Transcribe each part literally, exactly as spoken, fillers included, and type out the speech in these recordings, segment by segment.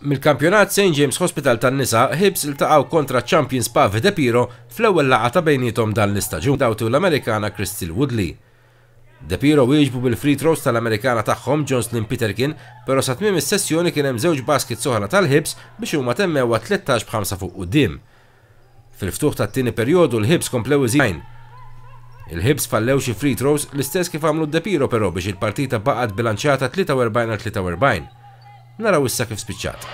Mill-kampjonat Saint James Hospital tan-nisa, Hibs iltaqgħu kontra Champions Pavi Depiro fl-ewwel laqgħa ta' bejniethom dan l-istaġun dawtu l-Amerikana Crystal Woodley. Depiro wieġbu bil-free throws tal-Amerikana tagħhom Jocelyn Peterkin, però sa tmiem is-sessjoni kien hemm żewġ baskets oħra tal-Hibs biex huma temmewha tlettax b'ħamsa fuq quddiem. Fil-ftuħ tat-tieni perjodu l-Hibs komplew iżjed. Il-Hibs fallew xi free throws l-istess kif għamlu Depiro però biex il-partita baqgħet bilanċjata tlieta u erbgħin għal tlieta u erbgħin. Naraw issa kif spiċċat.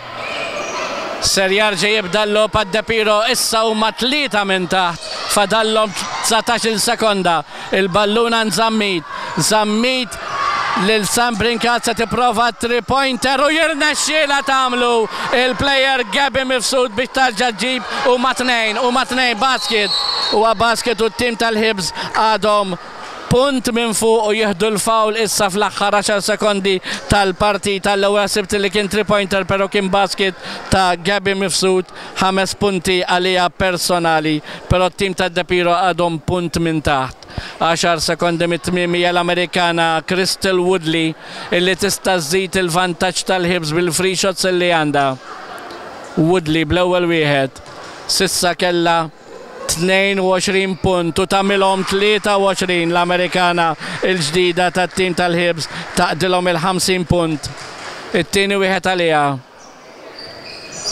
Ser jarġa' jibda l-logħob għad-Depiro, issa huma tlieta minn taħt, fadallhom dsatax-il sekonda. Il-ballun għand Zammit, Zammit lil Sam Brincat se tipprova three pointer u jirnexxielha tagħmlu il-player Gabi Mifsud biex tarġa' ġġib u ma tnejn, u ma tnejn basket. Huwa basket u t-tim tal-Hibs għadhom punt minn fuq u jieħdu l-foul issa fl-aħħar għaxar sekondi tal-partita. L-ewwel sibt li kien three pointer però kien basket ta' Gabi Mifsud, ħames punti għalija personali, però t-tim ta' Depiro għadhom punt minn taħt. Għaxar sekondi mit-tmiem hija l-Amerikana Crystal Woodley illi tista' żżid il-vantaġġ tal-Hibs bil-free shots illi għandha. Woodley bl-ewwel wieħed sissa kellha tnejn u għoxrin punt u tagħmilhom tlieta u għoxrin l-Amerikana il-ġdida tat-tim tal-Hibs taqdilhom il-ħamsin punt. It-tieni wieħed għaliha.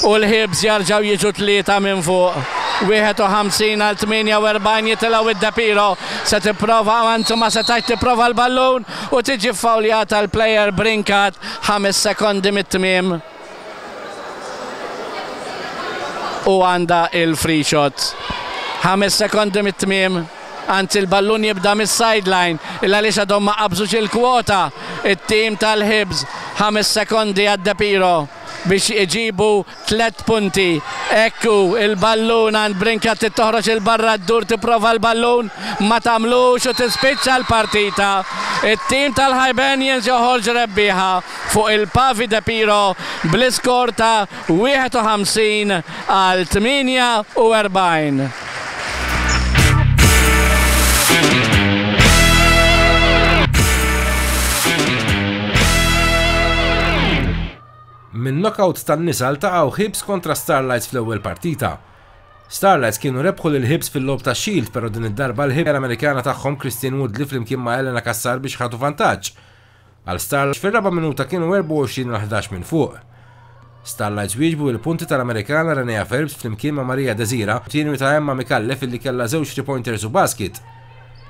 U l-Hibs jarġgħu jiġu tlieta minn fuq. Wieħed u ħamsin għal tmienja u erbgħin jitilgħu id-Depiro. Se tipprova, anzi ma setax tipprova l-ballun u tiġi fawljata l-player Brincat ħames sekondi mit-tmiem. U għandha il-free shot. Ħames sekondi mit-tmiem, anzi l-ballun jibda mis-sideline, illa għaliex għadhom ma qabżux il-kwota it-tim tal-Hibs. Ħames sekondi għad-Depiro biex iġibu tliet punti. Ekku il-ballun għand Brincat toħroġ il-barra d-dur tipprova l-ballun ma tagħmlux u tispiċċa l-partita. It-tim tal-Hibernians joħorġ rebbieħa fuq il-Pavi Depiro bl-iskor ta' wieħed u ħamsin għal tmienja u erbgħin. Min knockout tan-nisa ltaqgħu Hibs kontra Starlights fl-ewwel partita. Starlights kienu rebħu lil Hibs fil-logħob ta' Shield, però din id-darba l-Hibs Amerikana tagħhom Christine Woodley flimkien ma' Elena Cassar biex ħadu vantaġġ. Għal Starlights fir-raba' minuta kienu erbgħa u għoxrin għal ħdax minn fuq. Starlights wieġbu il-punti tal-Amerikana Renea Phelps flimkien ma' Maria Desira, tieni ta' Emma Micallef illi kellha żewġ three pointers u basket.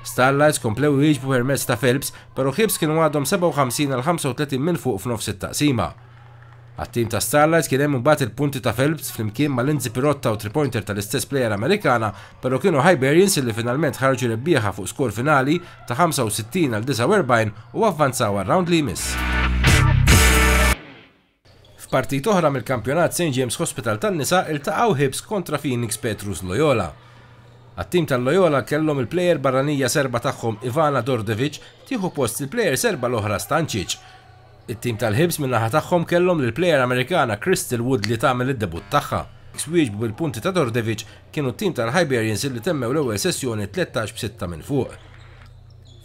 Starlights komplew wieġbu permezz ta' Phelps, però Hibs kienu għadhom sebgħa u ħamsin għal ħamsa u tletin minn fuq f'nofs it-taqsima. Għat-tim ta' Starlights kien hemm imbagħad il-punti ta' Phelps flimkien ma' Lindsay Pirotta u three-pointer tal-istess player Amerikana, però kienu Hibernians illi finalment ħarġu rebbieħa fuq skor finali ta' ħamsa u sittin għal disgħa u erbgħin u avvanzaw għar-round li jmiss. F'partit oħra mill-kampjonat Saint James Hospital tan-nisa iltaqgħu Hibs kontra Phoenix Petrus Loyola. Għat-tim tal-Loyola kellhom il-plejer barranija serba tagħhom Ivana Dordevic tieħu post il-plejer serba l-oħra Stancic. It-tim tal-Hibs min-naħa tagħhom kellhom lill-plejer Amerikana Crystal Woodley tagħmel id-debutt tagħha. Wieġbu bil-punti ta' Dordevic kienu t-tim tal-Hibernians illi temmew l-ewwel sessjoni tlettax b'sitta minn fuq.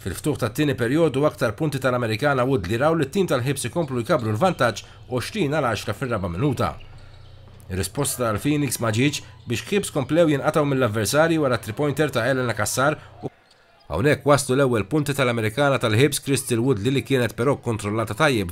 Fil-ftuħ tat-tieni perjodu aktar punti tal-Amerikana Woodley raw li t-tim tal-Hibs ikomplu jkabru l-vantaġġ għoxrin għal għaxra fir-raba' minuta. Ir-risposta tal-Phoenix ma ġietx biex Hibs komplew jinqatgħu mill-avversarji wara three-pointer ta' Elena Cassar u hawnhekk waslu l-ewwel punti tal-Amerikana tal-Hibs Crystal Woodley li kienet però kontrollata tajjeb